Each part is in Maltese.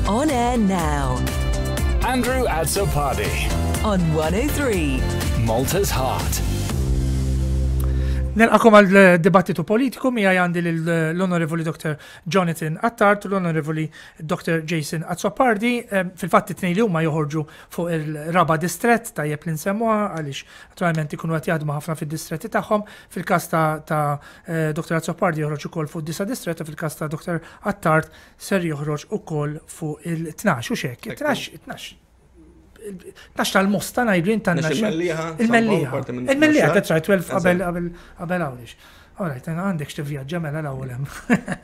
On air now. Andrew Azzopardi. On 103. Malta's Heart. Nilqakom għal dibattitu politiku miegħi għandi l-Onorevoli Dr. Jonathan Attard u l-Onorevoli Dr. Jason Azzopardi. Fil-fatt it-tnejn li huma joħorġu fuq il-raba distrett tajjeb li nsemmuha għaliex naturalment ikunu qed jaħdmu ħafna fid-distretti tagħhom. Fil-każ ta', ta eh, Dr. Azzopardi joħroġ ukoll fuq disa distrett u fil-każ ta' Dr. Attard ser joħroġ ukoll fuq il-12 u xek. Il-12, 12 12 tal-mosta ngħidu jien tan Il-Mellieħa. Il-Mellieħa. Il-Mellieħa, that's right, 12 qabel qabel qabel għawdex. All right, għandek x'tivvjaġġa mela l-ewwel hemm.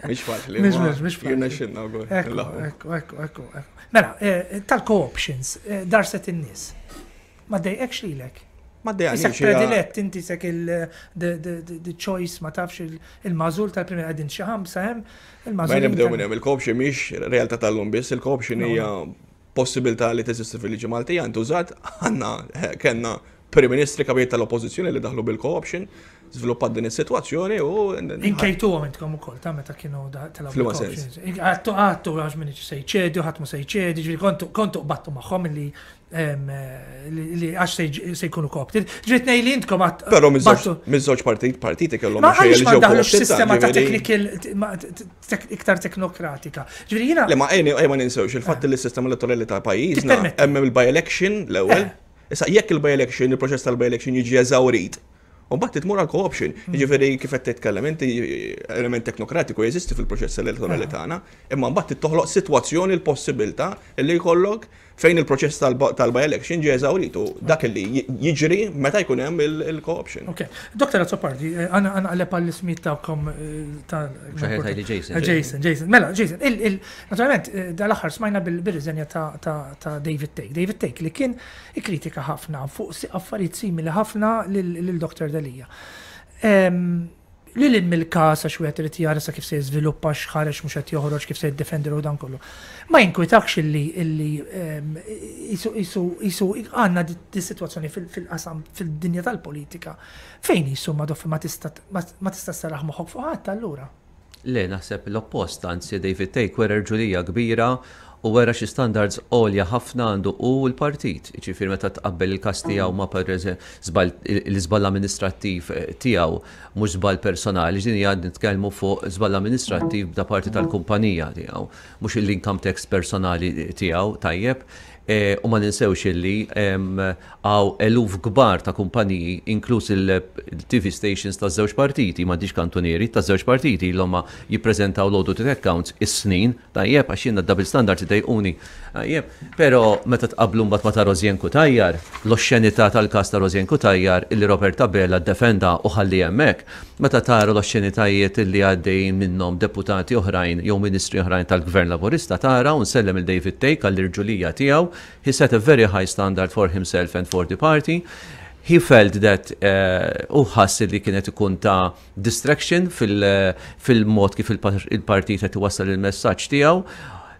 Mhix faċli. Mhix mhux mhux faċli. Jirna xinna wkoll. Ekku, ekku, ekku, ekku. Mela, eh, tal-co-options, eh, darset in-nies. Ma dejqekx lilek. Ma dejqekx. Isek predilett inti sek il-the choice ma tafx il-mażul tal-primi qegħdin xi ħamsa hemm il-mażul. Ma nibdew minn hemm il-co-option mhix realtà tal-lum biss, il-co-option hija possibilità li teżisti fil-liġi Maltija ntużat għandna eh, kellna Prim Ministri kabijiet tal-Oppożizzjoni li daħlu bil-co-option, żviluppat din is-sitwazzjoni u. Inkejtuhom intkom ukoll ta' meta kienu telgħu bil-co-options. Għattu għattu għax min se jċedi u ħadd ma se jċedi, ġifieri kontu kontu qbattu magħhom li li għax se jkunu co-opted. Ġifieri tnej li intkom għat. Però miż-żewġ partit partiti kellhom Ma għaliex ma daħlux sistema ta' technical iktar teknokratika. Ġifieri jiena. Le ma ejja ma ninsewx il-fatt li s-sistema elettorali ta' pajjiżna hemm il-by-election l-ewwel. Eh. Issa jekk il-by-election, il-proċess tal-by-election jiġi eżawrit, u mbagħad titmur għal co-option. Hmm. Jiġifieri kif qed titkellem inti element teknokratiku jeżisti fil-proċess elettorali ah. tagħna, imma mbagħad toħloq sitwazzjoni l-possibilità li jkollok fejn il-proċess tal-by-election ġie eżawrit u dak li jiġri meta jkun hemm il-co-option. Ok. Dr. Azzopardi, eh, għana għalep għall-ismijiet tagħkom eh, ta' Jason. Eh, Jason, Jason. Mela, Jason, naturalment dal-aħħar smajna bil-riżenja ta' David Take. David Take li kien ikkritika ħafna fuq affarijiet simili ħafna lil Dr. Delia. Lil hinn mill-każ għax wieħed irid jara sa kif se jiżviluppa x'ħareġ mhux qed joħroġ kif se jiddefendi ruħu dan kollu. Ma jinkwitakx illi illi qisu qisu qisu għandna dis-sitwazzjoni fil-qasam fid-dinja tal-politika fejn qisu ma ma tista' ma tista' sserraħ moħħok fuq ħadd allura. Le, naħseb l-oppost, anzi David Thake wera rġulija kbira u wera xi standards għolja ħafna għandu hu u l-partit. Jiġifieri meta tqabbel il-każ tiegħu ma' żball l-iżball amministrattiv tiegħu mhux żball personali, din hija nitkellmu fuq żball amministrattiv da parti tal-kumpanija tiegħu, mhux l-income tax personali tiegħu, tajjeb. U ma ninsewx illi hawn eluf kbar ta' kumpaniji, inkluż il-TV stations taż-żewġ partiti, m'għandix kantunieri, taż-żewġ partiti ilhom ma jippreżentaw l-audited accounts is-snin, tajjeb, għax jiena d-double standards idejquni, tajjeb. Però meta tqabblu mbagħad ma' ta' Rosianne Cutajar, l-oxxenità tal-każ ta' Rosianne Cutajar illi Robert Abela ddefenda u ħalli hemmhekk, Meta tara l-oxxenitajiet li għaddejjin minnhom deputati oħrajn jew ministri oħrajn tal-Gvern Laburista tara u nsellem lil David Thake għall-irġulija tiegħu, he set a very high standard for himself and for the party. He felt that hu ħass li kien qed ikun ta' distraction fil-mod kif il-partit qed iwassal il-messaġġ tiegħu.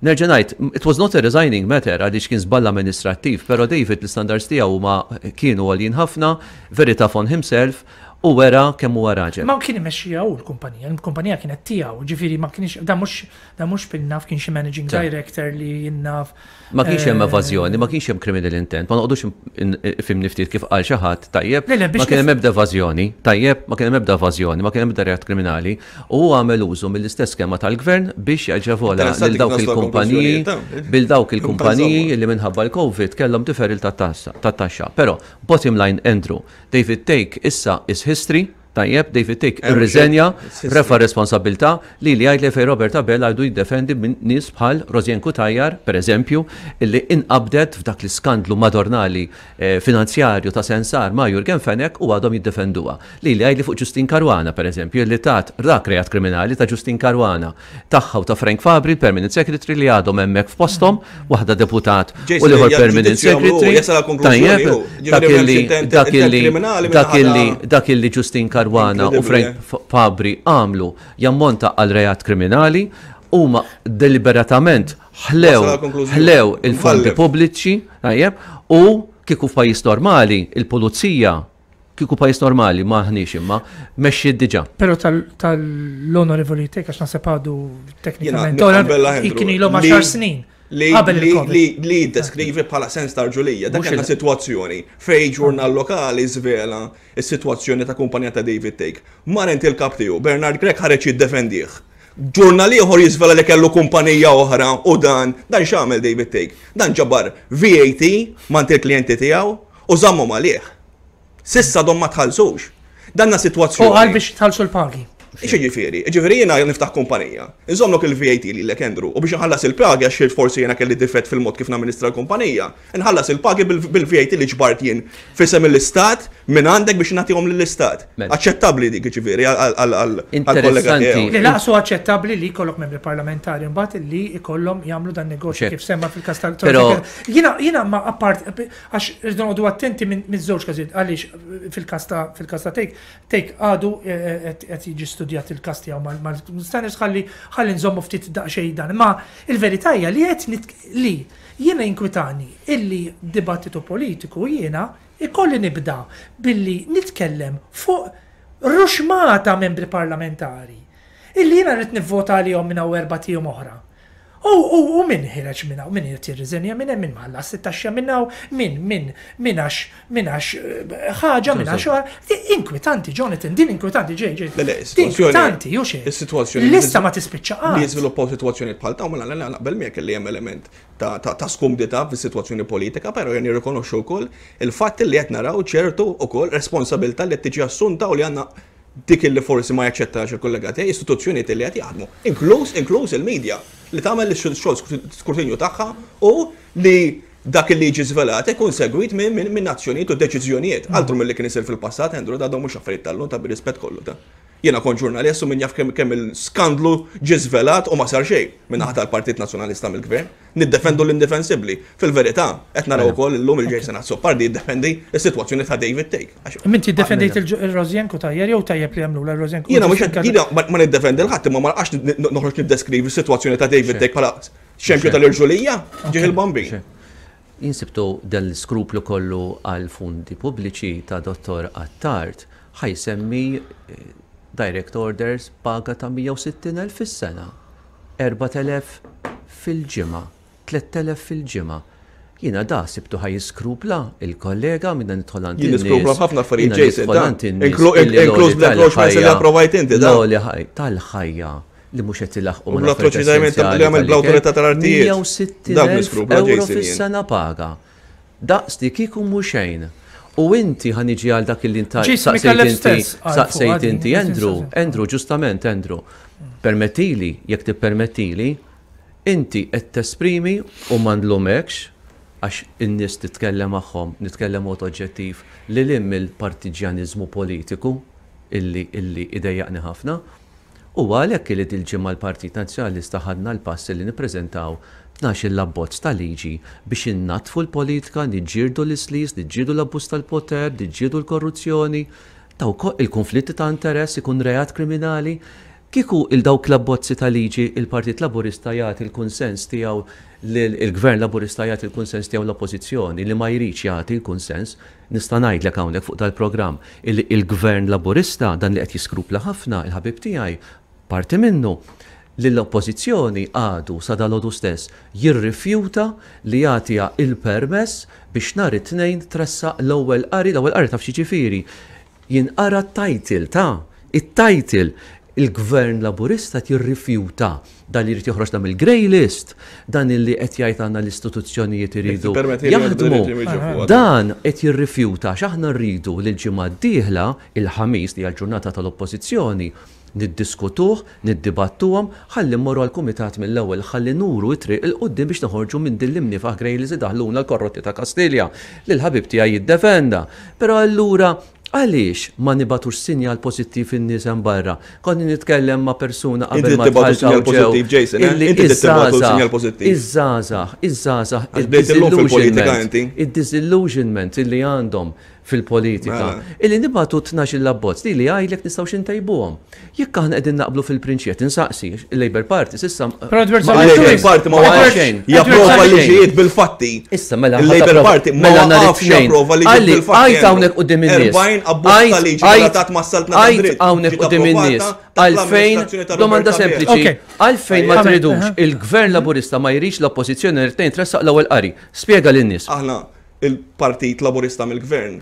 Nerġa' ngħid, it was not a resigning matter għaliex kien żball amministrattiv, però David l-istandards tiegħu huma kienu għoljin ħafna, very tough on himself, U wera kemm huwa raġel. Ma kien imexxiha hu l-kumpanija, l-kumpanija kienet tiegħu, ġifieri ma kienx dan mhux dan mhux fil-naf kien xi managing director li jien naf. Ma kienx hemm evażjoni, ma kienx hemm criminal intent, ma noqogħdux fhimni ftit kif qal xi ħadd, tajjeb, ma kien hemm ebda evażjoni, tajjeb, ma kien hemm ebda evażjoni, ma kien hemm ebda reat kriminali, u hu għamel użu mill-istess skema tal-gvern biex jaġevola lil dawk il-kumpaniji, bil dawk il-kumpaniji li minħabba l-Covid kellhom deferral tat-taxxa. Però, bottom line Andrew, David Thake issa is history, tajjeb, David Thake irriżenja, refa' r-responsabbiltà, lili jgħidli fejn Robert Abela għadu jiddefendi minn nies bħal Rosianne Cutajar, per eżempju, illi inqabdet f'dak l-iskandlu madornali finanzjarju ta' Sensar ma' Yorgen Fenech u għadhom jiddefenduha. Lili jgħidli fuq Justyne Caruana, per eżempju, illi tat dak reat kriminali ta' Justyne Caruana. tagħha u ta' Frank Fabri, il-Permanent Secretary li għadhom hemmhekk f'posthom, waħda deputat u l-ieħor Permanent Secretary. Tajjeb, dak illi dak illi dak illi dak illi Justin Caruana u Frank Fabri għamlu jammonta għal reat kriminali huma deliberatament ħlew ħlew il-fondi pubbliċi, tajjeb, u kieku f'pajjiż normali il-pulizija Kieku pajjiż normali, ma aħniex imma, mexxiet diġà. Però tal-onorevoli Teka għax naħseb għadu teknikament. Kien ilhom għaxar snin. Li Qabel il-Covid. li li jiddeskrivi bħala sens ta' rġulija. Dak Mhux kellna il- sitwazzjoni fejn ġurnal lokali żvela s-sitwazzjoni ta' kumpanija ta' David Thake. Mar għand il-kap tiegħu, Bernard Grech ħareġ jiddefendih. Ġurnal ieħor jiżvela li kellu kumpanija oħra u dan, dan x'għamel David Thake? Dan ġabar VAT m'għand il-klijenti tiegħu u żammhom għalih. S'issa għadhom ma tħallsux. Danna sitwazzjoni. U qal biex tħallsu l-pagi. X'jiġifieri? Jiġifieri jiena niftaħ kumpanija, inżommlok il-VAT lilek Andrew, u biex inħallas il-pagi għax forsi jiena kelli difett fil-mod kif namministra l-kumpanija, inħallas il-pagi bil-VAT li ġbart jien f'isem l-Istat minn għandek biex nagħtihom lill-Istat. Aċċettabbli dik jiġifieri għall-kollega tiegħu. Le laqsu aċċettabbli li jkollok membri parlamentari mbagħad li jkollhom jagħmlu dan negozju kif semma fil-każ tal Jiena jiena ma appart għax irridu noqogħdu attenti minn żewġ każijiet għaliex fil-każ ta' fil-każ ta' Take Take għadu qed jiġi studjat il-każ tiegħu mal-standards ħalli ħalli nżommu ftit daqsxejn dan. Imma il-verità hija li qed li jiena jinkwitani illi dibattitu politiku jiena ikolli nibda billi nitkellem fuq ruxmata membri parlamentari illi jiena rrid nivvota għalihom minn hawn erbat ijiem oħra. U, u, u min ħireġ minn hawn, min irid jirriżenja minn hemm, min ma ħallas it-taxxa minn hawn, min, min, min għax, min għax ħaġa, min għax oħra. Inkwitanti, Jonathan, din inkwitanti, ġej, ġej. Le, le, is-sitwazzjoni. Inkwitanti, hux hekk. Is-sitwazzjoni. Lista ma tispiċċa qatt. Li jiżviluppaw sitwazzjonijiet bħal dawn, mela le, naqbel miegħek li hemm element ta', ta', ta' skumdità fis-sitwazzjoni politika, però jien nirrikonoxxu wkoll il-fatt li qed naraw ċertu wkoll responsabilità li qed tiġi assunta u li għandna dik illi forsi ma jaċċettax il-kollega tiegħi, istituzzjonijiet illi qed jaħdmu, inkluż inkluż il-media li tagħmel ix-xogħol skrutinju tagħha u li dak illi jiġi żvelat ikun segwit minn azzjonijiet u deċiżjonijiet. Altru milli kien isir fil-passat, Andrew, da mhux affarijiet tal-lum ta' bir-rispett kollu ta'. Jiena kont ġurnalist u min jaf kemm il-skandlu ġie żvelat u ma sar xejn min-naħa tal-Partit Nazzjonalista mill-Gvern. Niddefendu l-indefensibbli. Fil-verità, qed naraw ukoll illum il-Jason Azzopardi jiddefendi s-sitwazzjoni ta' David Thake. Imma inti ddefendejt il-Rożjenko tajjeb jew tajjeb li għamlulha r-Rożjenko? Jiena mhux qed jiena ma niddefendi 'l ħadd imma ma naqax noħroġ niddeskrivi s-sitwazzjoni ta' David Thake bħala xempju tal-irġulija, ġieħ il-bambin. Jien sibtu dan l-iskruplu kollu għall-fondi pubbliċi ta' Dottor Attard ħa jsemmi direct orders paga ta' 160,000 fis-sena. 4,000 fil-ġimgħa, 3,000 fil-ġimgħa. Jiena da sibtu ħa jiskrupla il-kollega minna nidħol għand Jien in-nies. niskrupla f'ħafna affarijiet, Jiena Jason, nidħol ta' għand in-nies Inklu- illi inkluż l-għoli bl-encroachments li tal-ħajja- approvajt inti, ta' L-għoli ħaj- tal-ħajja li mhux qed ilaħħqu U mal-affarijiet bl-atroċitajiet essenzjali li għamel tal-ikel. bl-awtorità tal-artijiet. 160,000 Dak niskrupla, euro Jason, jien. fis-sena paga. Daqs li kieku mhu xejn. U inti ħa niġi għal dak li inta Jason saqsejt Micallef inti, stess qal fuq saqsejt din, inti Jason Andrew, stess. Andrew, ġustament Andrew. Permettili, jekk tippermettili, inti qed tesprimi u ma nlumekx għax in-nies titkellem magħhom, nitkellem mod oġġettiv lil hinn mill-partiġjaniżmu politiku illi illi idejjaqni ħafna. Huwa għalhekk illi dil-ġimgħa l-Partit Nazzjonalista ħadna l-pass illi nippreżentaw tnax-il abbozz ta' liġi biex innaddfu l-politika, niġġieldu l-islis, niġġieldu l-abbuż tal-poter, niġġieldu l-korruzzjoni, dawk il-kunflitti ta' interess ikun reat kriminali. Kieku il dawk l-abbozzi ta' liġi il-Partit Laburista jagħti l-kunsens tiegħu lil il-Gvern Laburista jagħti l-kunsens tiegħu l-Oppożizzjoni li ma jridx jagħti l-kunsens, nista' ngħidlek hawnhekk fuq dal-programm illi il-Gvern Laburista, dan li qed jiskrupla ħafna, il-ħabib tiegħi, parti minnu, lill-Oppożizzjoni għadu sa dalgħodu stess jirrifjuta li jagħtiha il-permess biex nhar it-Tnejn tressaq l-ewwel qari, l-ewwel qari taf x'jiġifieri? Jinqara t-title ta' it-title! Il-Gvern Laburista qed jirrifjuta dan li jrid joħroġna mill-grey list, dan illi qed jgħid għandna l-istituzzjonijiet iridu jaħdmu. Dan qed jirrifjuta għax aħna rridu li l-ġimgħa d-dieħla, il-Ħamis li hija l-ġurnata tal-Oppożizzjoni, niddiskutuh, niddibattuhom, ħalli mmorru għall-Kumitat mill-ewwel, ħalli nuru t-triq 'il quddiem biex noħorġu minn din l-imniefaħ grey list li daħluna l-korrotti ta' Kastilja, li l-ħabib tiegħi jiddefenda. Però allura għaliex ma nibagħtux sinjal pożittiv in-nies hemm barra? Kont nitkellem ma' persuna qabel ma dħalt hawn ġew illi iż-żgħażagħ, iż-żgħażagħ, iż-żgħażagħ, id-disillusionment, id-disillusionment illi għandhom. fil-politika Mela. illi nibagħtu 12-il abbozz li li jgħidlek nistgħux intejbuhom. Jekk aħna qegħdin naqblu fil-prinċipju qed insaqsi il-Labour Party s'issa Però Edward ma Zammit qal Il-Labour xejn. Party ma Ma qal waqafx xejn. japprova Xejn. liġijiet bil-fatti. Issa mela Il-Labour Party ma mela nhar waqafx it-tnejn. japprova liġijiet Għalli, bil-fatti. Għajt hawnhekk quddiem in-nies. 40 abbozz ta' liġi Għajt- relatat mas-saltna ta' Għajt dritt. hawnhekk Ġiet quddiem in-nies. approvata taħt Għalfejn, l-amministrazzjoni ta' domanda Robert Abela. sempliċi, Ok. għalfejn ma Amen. tridux Aha. il-Gvern Laburista ma jridx l-Oppożizzjoni nhar it-tnejn tressaq l-ewwel qari. Spjega lin-nies. Aħna il-Partit Laburista mill-Gvern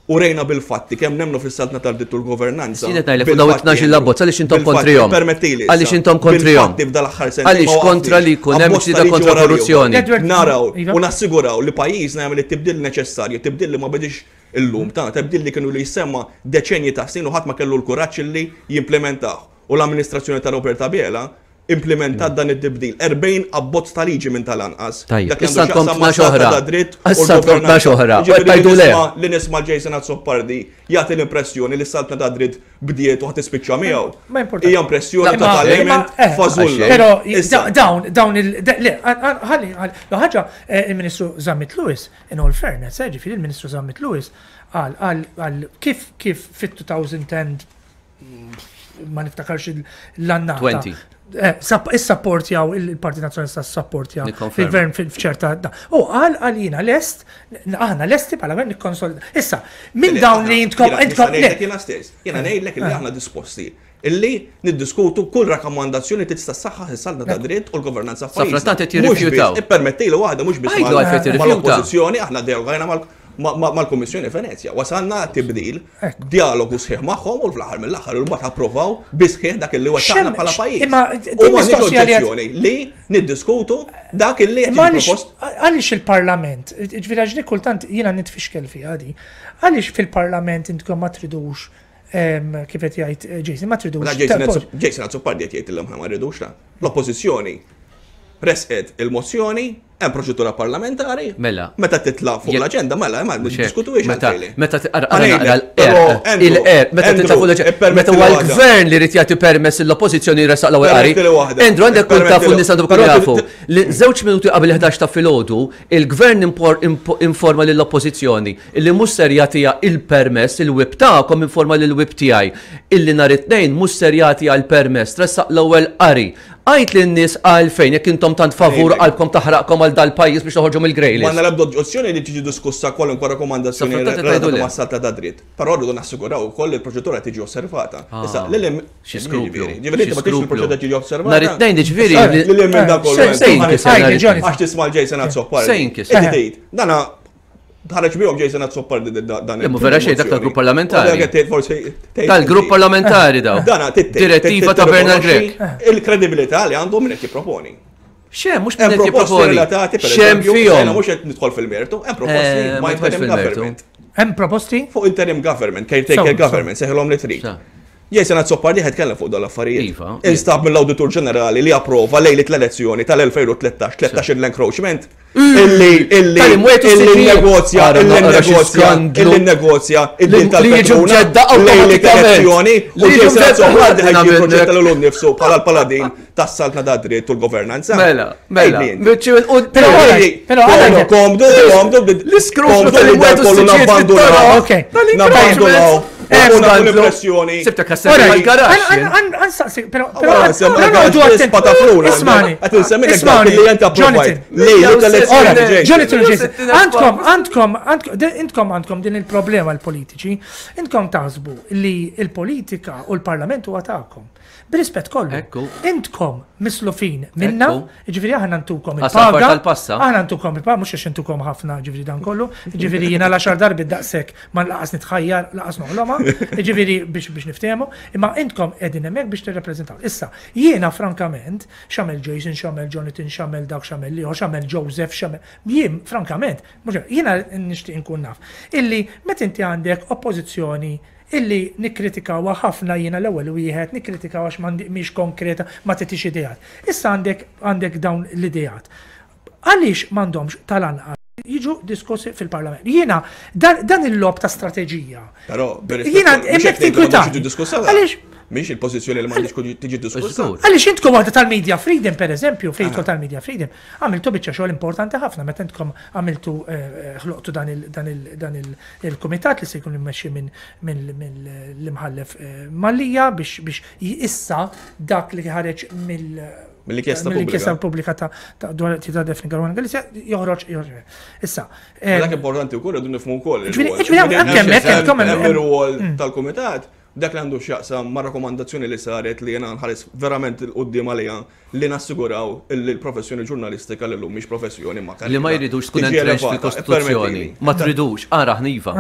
u rejna bil-fatti kemm nemmnu fis-saltna tad-dritt u l-governanza. Jien qed ngħidlek fuq dawn it-tnax-il abbozz għaliex intom kontrihom. Permettili. Għaliex intom kontrihom. Bil-fatti f'dal-aħħar sentejn Għaliex ma kontra li jkun hemm waqafniex. ġlieda Abbozz ta' liġi kontra wara l-ieħor. korruzzjoni. Edward, Naraw Iva. u nassiguraw li pajjiżna jagħmel it-tibdil neċessarju, tibdil li ma bedix illum ta' tibdil li kienu li jsemma deċenji ta' snin u ħadd ma kellu l-kuraġġ li jimplementah. U l-amministrazzjoni ta' Robert Abela implementat dan it-tibdil. 40 abbozz ta' liġi minn tal-anqas. Tajjeb, Dak li issa għandu għandkom x'jaqsam 12 mas-saltna oħra. ta' dritt u Issa għandkom l-governanza. 12 oħra. U Jiġifieri qed tgħidu li le. nisma' li nisma' Jason Azzopardi jagħti l-impressjoni li s-saltna ta' dritt bdiet u ħadd tispiċċa miegħu. Ma importanti. Hija impressjoni Imma- totalment imma- eh, fażulla. Pero Issa, dawn, dawn il. Le, ħalli, ħalli. Ħaġa, eh, il-Ministru Zammit Lewis, in all fairness, eh, ġifieri il-Ministru Zammit Lewis, għal, għal, għal, kif, kif fit-2010, ma niftakarx l-annata. 20. Eh, Issapportjaw il-Partit Nazzjonalista ssapportja Nikkonferma. il-gvern f'ċerta. U għal għalina lest, aħna lesti bħala gvern nikkonsolida. Issa, minn dawn li intkom, Jiena intkom, nista' ngħidlek jiena stess, jiena ngħidlek illi aħna disposti illi niddiskutu kull rakkomandazzjoni tista' ssaħħaħ is-saltna ta' dritt u l-governanza f'pajjiżna. Safrattant qed Mhux biss, jirrifjutaw. Ippermettili waħda mhux biss Għidlu għalfejn tirrifjuta. mal-oppożizzjoni, aħna dialogajna mal-Kummissjoni Venezja. Wasalna tibdil, dialogu sħiħ magħhom u fl-aħħar mill-aħħar imbagħad approvaw bi sħiħ dak illi wettaqna Xem- bħala pajjiż. imma U din m'għandniex mistoqsija li qed- oġġezzjoni li niddiskutu dak illi qed Imma jiġi għaliex propost għaliex il-Parlament, ġifieri għax li kultant jiena nitfixkel fiha di, għaliex fil-Parlament intkom ma tridux em, kif qed jgħid eh, Jason, ma tridux. Mela Jason Azzo- Jason Azzopardi qed jgħid illum ma rridux la. L-oppożizzjoni resqet il-mozzjoni, hemm proċedura parlamentari. Mela. Meta titla' fuq Jekk- l-aġenda, mela ma Mhux hekk. niddiskutuhiex Meta għalfejn. meta ara Ħa naqra ngħidlek, però, l-er, il-er, meta Andrew, titla' fuq l-aġenda, meta ippermetti huwa waħda. l-gvern li jrid jagħti permess l-oppożizzjoni jressaq l-ewwel qari. Permettili waħda. Andrew għandek kun tafu Ippermettili- n-nies għandhom ikunu Però jafu. Li żewġ minuti qabel 11 ta' filgħodu, il-gvern impor- impo- informa lill-oppożizzjoni illi mhux ser jagħtiha il-permess, il-whip tagħkom informa lill-whip tiegħi illi nhar it-tnejn mhux ser jagħtiha l-permess, tressaq l-ewwel qari. Għid lin-nies għalfejn jekk intom tant favur Ngħidlek. qalbkom taħraqkom għal dal-pajjiż biex toħorġu mill-grey Ma list. għandna l-ebda oġġezzjoni li tiġi diskussa kwalunkwe rakkomandazzjoni Safrattant qed relatata tgħidu le. mas-saltna ta' dritt. Però rridu nassiguraw ukoll li l-proċedura tiġi osservata. Ah. Issa, lil hemm Xi skruplu. Ġifieri inti ma tix il-proċedura tiġi osservata. Nhar it-tnejn ġifieri Lil hemm minn dak kollu. Se- se jinkisser Għajdi, nhar it-tnejn. Jonathan. Għax tisma' l-Jason Azzopardi. Se jinkisser. Inti tgħid, dana ħareġ bihom Jason Azzopardi dan. Imma vera xejn, dak tal-grupp parlamentari. U dak qed tgħid forsi tgħid Tal-grupp inti. parlamentari daw. Dana tgħid- Direttiva ta' Bernard Grech. Il-kredibilità li għandu min qed jipproponi. Xem, mhux Hemm min qed proposti jipproponi. relatati, per Xem eżempju, fihom. jiena mhux qed nidħol fil-mertu, hemm proposti Eh, ma ma interim tidħolx fil-mertu. government. Hemm proposti? Fuq interim government, caretaker So, government, seħilhom li trid. Sa. Jason Azzopardi ħed kellem fuq dal-affarijiet. Iva. Instab mill-Awditur Ġenerali li approva lejlit l-elezzjoni tal-2013, 13 l-encroachment. Illi, illi, Tal-imwietu illi s-siġijiet. negozja, Ara, illi naqra xi negozja, skandlu. illi negozja, id-din Li- li jiġu tal-Petruna, mġedda lejlit awtomatikament. l-elezzjoni, u Li jiġu Jason mġedda Azzopardi ħajġi nagħmel proġetta l nnifsu bħala l-paladin tas-saltna ta' dritt u l-governanza. Mela, mela. Ejlin. Biċċi u- Però Però għalek, però għalek- Komdu, komdu, L-iskruplu komdu li tal-imwietu dan kollu s-siġijiet nabbandunaw. fit-toroq. Ok. Nabbandunaw. Eh, U nagħtu skandlu. l-impressjoni. Sibtek għas-servi Alright, mal-garaxx. għan- għan- għan saqsi, però però Allora, però semma noqogħdu attenti. patafluna. Ismani, Qed insemmilek dak ismani, li jent approvajt. Jonathan. Lejlet l-elezzjoni Alright, ġej. Jonathan u Jason, Settina għandkom, għandkom, għandkom, de- intkom għandkom din il-problema l-politiċi, intkom taħsbu li il-politika u l-parlament huwa tagħkom. Bir-rispett kollu. Ekku. Intkom mislufin minna, Ekku. ġifieri aħna ntukom Għas-safar il-paga. tal-passa. Aħna ntukom il-paga, mhux għax intukom ħafna ġifieri dan kollu, ġifieri jiena l-għaxar darbi daqshekk ma laqas nitħajjar, laqas noħloma, ġifieri biex biex niftehmu, imma intkom qegħdin hemmhekk biex tirrappreżentaw. Issa, jiena frankament, x'għamel Jason, x'għamel Jonathan, x'għamel dak, x'għamel liħor, x'għamel Joseph, x'għamel jien frankament, mhux jiena nixtieq inkun naf illi meta inti għandek oppożizzjoni illi nikkritikawha ħafna jiena l-ewwel wieħed, nikkritikaw għax m'għandi mhix konkreta, ma titix ideat. Issa għandek għandek dawn l-ideat. Għaliex m'għandhomx tal-anqas jiġu diskussi fil-Parlament. Jiena dan il-logħob ta' strateġija. Però, Jiena hemmhekk tinkwitani. Għaliex Mhix il-pożizzjoni li m'għandix tiġi diskussa. Għaliex intkom waħda tal-Media Freedom, per eżempju, fejn ah. tal-Media Freedom, għamiltu biċċa xogħol importanti ħafna meta intkom għamiltu eh, eh, ħloqtu dan il-kumitat li se jkun immexxi minn l-imħallef eh, Mallia biex issa dak li ħareġ mill Mill-inkjesta pubblika. Mill-inkjesta pubblika ta' dwar ta' Daphne Caruana Galizia joħroġ joħroġ. Issa. Eh, dak importanti wkoll irridu nifhmu wkoll. Ġifieri anke hemmhekk intom hemm ir-rwol mm. tal-kumitat dak li għandu x'jaqsam ma' rakkomandazzjoni li saret li jena nħares verament il-qoddim għalija li nassiguraw li l-professjoni ġurnalistika li l-lum mhix professjoni ma' Li ma jridux tkun entrenched fil-Kostituzzjoni. Ma tridux, ara ħniva.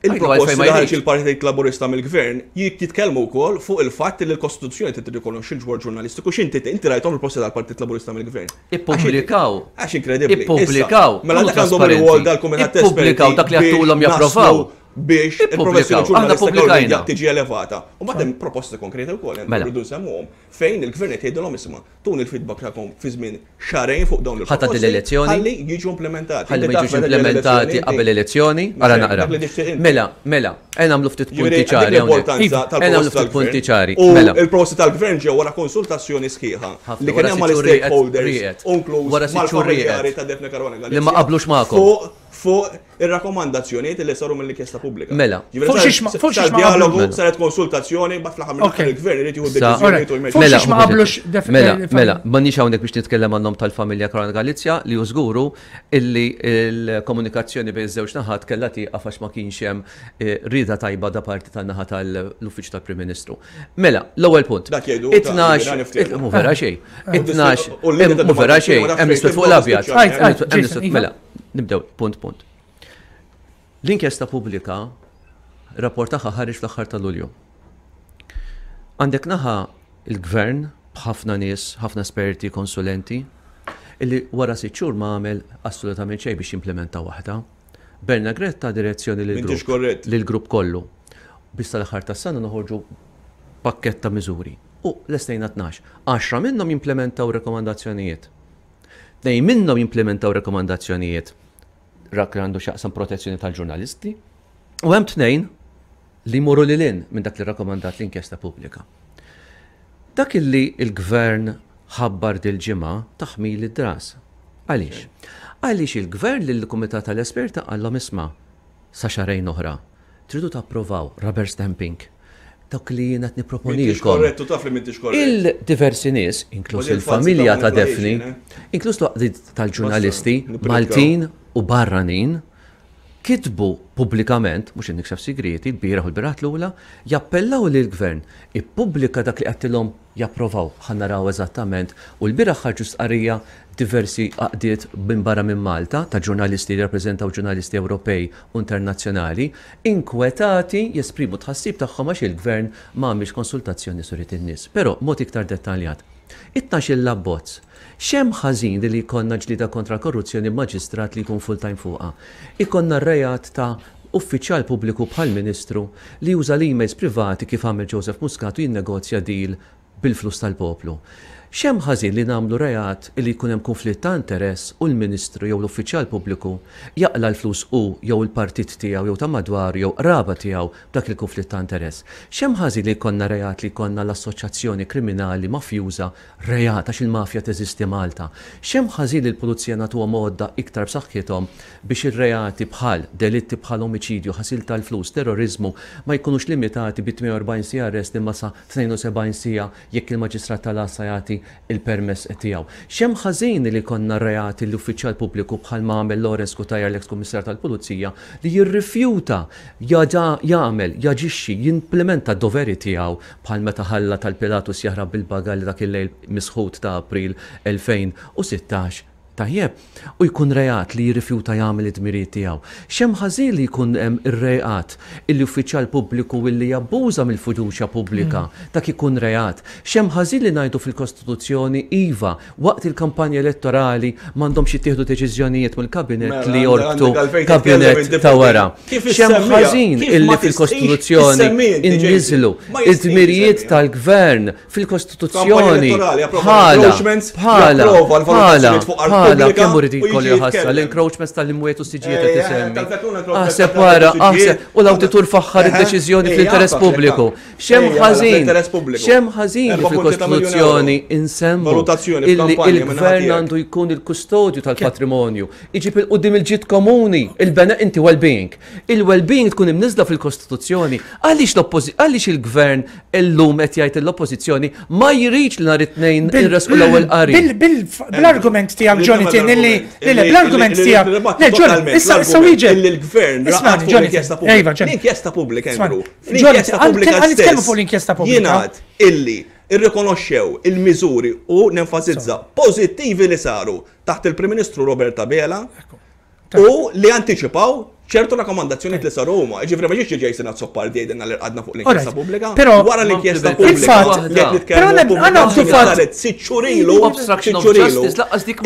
Il-proposti li ħareġ il-Partit Laburista mill-Gvern jitkellmu wkoll fuq il-fatt li l-Kostituzzjoni trid tirrikonoxxi l-ġwar ġurnalistiku x'inti inti rajthom il-proposti tal-Partit Laburista mill-Gvern. Ippubblikaw. Għax inkredibbli. Ippubblikaw. Mela dak għandhom ir-rwol dal-Kumitat Ippubblikaw dak li għattulhom japprovaw biex il-professjoni ġurnalistika tiġi elevata. U mbagħad hemm proposti konkreti wkoll hemm mela. rridu nsemmuhom fejn il-gvern qed jgħidilhom isma' Tuni l-feedback tagħkom fi żmien xahrejn fuq dawn il-proposti. Ħa tgħaddi l-elezzjoni. Ħalli jiġu implementati. Ħalli ma jiġux implementati qabel l-elezzjoni. Ara naqra. Mela, mela, ejja nagħmlu ftit punti ċari hawnhekk. Ejja nagħmlu ftit punti ċari. U mela. il-proposti tal-gvern ġew wara konsultazzjoni sħiħa li kien hemm mal-stakeholders, inkluż mal-familjari ta' Daphne Caruana Galizia. Li ma qablux magħkom. Fuq ir-rakkomandazzjonijiet li saru mill-inkjesta pubblika. Mela. Fuq xiex ma dialogu mela. saret konsultazzjoni bat fl-aħħar mill il-gvern irid jieħu deċiżjonijiet u jmexxi. Mela, ma qablux Mela, mela, m'għandniex hawnhekk biex nitkellem għan-nom tal-familja Caruana Galizia li hu żguru illi l-komunikazzjoni bejn iż-żewġ naħat kellha tieqaf għax ma kienx hemm eh, rieda tajba da parti tan-naħa tal-Uffiċċju tal-Prim Ministru. Mela, l-ewwel punt. Dak jgħidu. It-tnax, mhu vera xejn. It-tnax, mhu vera xejn, hemm l-iswed fuq l-abjad. Mela, Nibdew punt punt. L-inkjesta pubblika rapport tagħha ħareġ fl-aħħar ta' Lulju. Għandek naħa il-gvern b'ħafna nies, ħafna esperti, konsulenti, illi wara sitt xhur ma għamel assolutament xejn biex jimplementa waħda. Bernard Grech ta direzzjoni lill-grupp lill-grupp kollu. Biex sal-aħħar tas-sena noħorġu pakkett ta' miżuri. U lestejna 12. Għaxra minnhom jimplementaw rekomandazzjonijiet. Tnejn minnhom jimplimentaw rekomandazzjonijiet rak li għandu x'jaqsam protezzjoni tal-ġurnalisti u hemm tnejn li jmorru lil hinn minn dak li rrakkomandat l-inkjesta pubblika. Dak illi l-gvern ħabbar dil-ġimgħa taħmil id-dras. Għaliex? Għaliex il-gvern lill-kumitat tal-esperti qallhom isma' sa xahrejn oħra. Tridu tapprovaw rubber stamping dawk li jien qed nipproponilkom. Taf li m'intix korrett. Il-diversi nies, inkluż il-familja ta' Daphne, eh? inkluż l-għaqdiet tal-ġurnalisti Maltin u barranin, kitbu pubblikament, mhux nikxef sigrieti, l-bieraħ u l-bieraħ l-ula, jappellaw lill-gvern ippubblika dak li qedtilhom japprovaw, ħa naraw eżattament, u lbieraħ ħarġu stqarrija diversi għaqdiet minn barra minn Malta ta' ġurnalisti li jirrappreżentaw ġurnalisti Ewropej u internazzjonali, inkwetati jesprimu t-tħassib tagħhom għax il-Gvern ma għamilx konsultazzjoni suriet in-nies. Però, b'mod iktar dettaljat. It-tnax-il abbozz. X'hemm ħażin li jkollna ġlieda kontra l-korruzzjoni b'maġistrat li jkun full-time fuqha? Ikollna r-reat ta' uffiċjal pubbliku bħal Ministru li juża l-emails privati kif għamel Joseph Muscat u jinnegozja deal bil-flus tal-poplu. X'hemm ħażin li nagħmlu reat illi jkun hemm kunflitt ta' interess u l-Ministru jew l-uffiċjal pubbliku jaqla' l-flus hu jew il-partit tiegħu jew ta' madwaru jew qraba tiegħu b'dak il-kunflitt ta' interess? X'hemm ħażin li jkollna reat li jkollna l-assoċjazzjoni kriminali mafjuża reat għax il-mafja teżisti Malta? X'hemm ħażin li l-pulizija nagħtuhom għodda iktar b'saħħithom biex ir-reati bħal delitti bħal omiċidju, ħasil tal-flus, terroriżmu ma jkunux limitati bi 48 siegħa arrest imma sa 72 siegħa jekk il-Maġistrat tal-Għassa jagħti l-permess tiegħu. X'hemm ħażin li jkollna reati li uffiċjal pubbliku bħal ma għamel Lawrence Cutajar l-eks Kummissarju tal-Pulizija li jirrifjuta jagħmel, jaġixxi, jimplimenta d-doveri tiegħu bħal meta ħalla tal-Pilatus jaħrab bil-bagalli dak il-lejl misħut ta' April 2016 Tajjeb, u jkun reat li jirrifjuta jagħmel id-dmirijiet tiegħu. X'hemm ħażin li jkun hemm ir-reat illi uffiċjal pubbliku illi jabbuża mill-fiduċja pubblika, dak ikun reat. X'hemm ħażin li ngħidu fil-Kostituzzjoni iva, waqt il-kampanja elettorali m'għandhomx jittieħdu deċiżjonijiet mill-Kabinett li jorbtu Kabinett ta' wara. X'hemm ħażin illi fil-Kostituzzjoni inniżżlu d-dmirijiet tal-Gvern fil-Kostituzzjoni bħala bħala bħala bħala. Għala, kemm hu ridikoli ħassa l-encroachments tal-imwiet u siġijiet qed isemmi. Aħseb wara, aħseb, u l-awditur faħħar id-deċiżjoni fl-interess pubbliku. X'hemm ħażin? X'hemm ħażin li fil-Kostituzzjoni insemmu illi il-gvern għandu jkun il-kustodju tal-patrimonju, iġib il-qudiem il-ġid komuni, il-bena inti well-being. Il-well-being tkun imniżla fil-Kostituzzjoni. Għaliex għaliex il-gvern illum qed jgħid l-oppożizzjoni ma jridx li nhar it-tnejn irresqu l-ewwel qari. Bl-argument tiegħek Jonathan illi bl-argument tiegħek. Le Jonathan, issa issa wieġeb. Illi l-gvern raqad fuq l-inkjesta pubblika. L-inkjesta pubblika, Andrew. L-inkjesta pubblika. Nitkellmu fuq l-inkjesta pubblika. Jingħad illi irrikonoxxew il-miżuri u nenfasizza pożittivi li saru taħt il-Prim Ministru Robert Abela U li antiċipaw ċertu rakkomandazzjonijiet li saru huma. Ġifieri ma ġiex Jason Azzopardi jgħidilna li rqadna fuq l-inkjesta pubblika. Però wara l-inkjesta pubblika li qed nitkellmu saret sitt xhur ilu, sitt xhur ilu.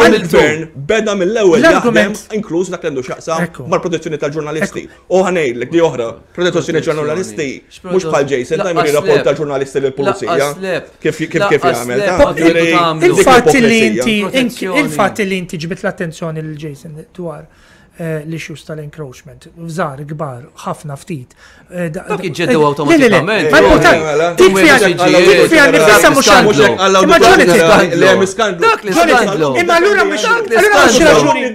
Il-gvern beda mill-ewwel jaħdem inkluż dak li għandu x'jaqsam mal-protezzjoni tal-ġurnalisti. U ħa ngħidlek di oħra, protezzjoni ġurnalisti mhux bħal Jason ta' jmur jirrapporta ġurnalisti lill-pulizija. Kif kif kif jagħmel. Il-fatt li inti il-fatt li inti ġbit l-attenzjoni lil Jason dwar eh, l-issues tal-encroachment, żgħar, kbar, ħafna ftit. Eh, Dak iġġeddew awtomatikament. Ma importanti, dik fiha dik fiha nifisha mhux Imma Jonathan. Dak li skandlu. Imma allura mhux allura mhux raġuni.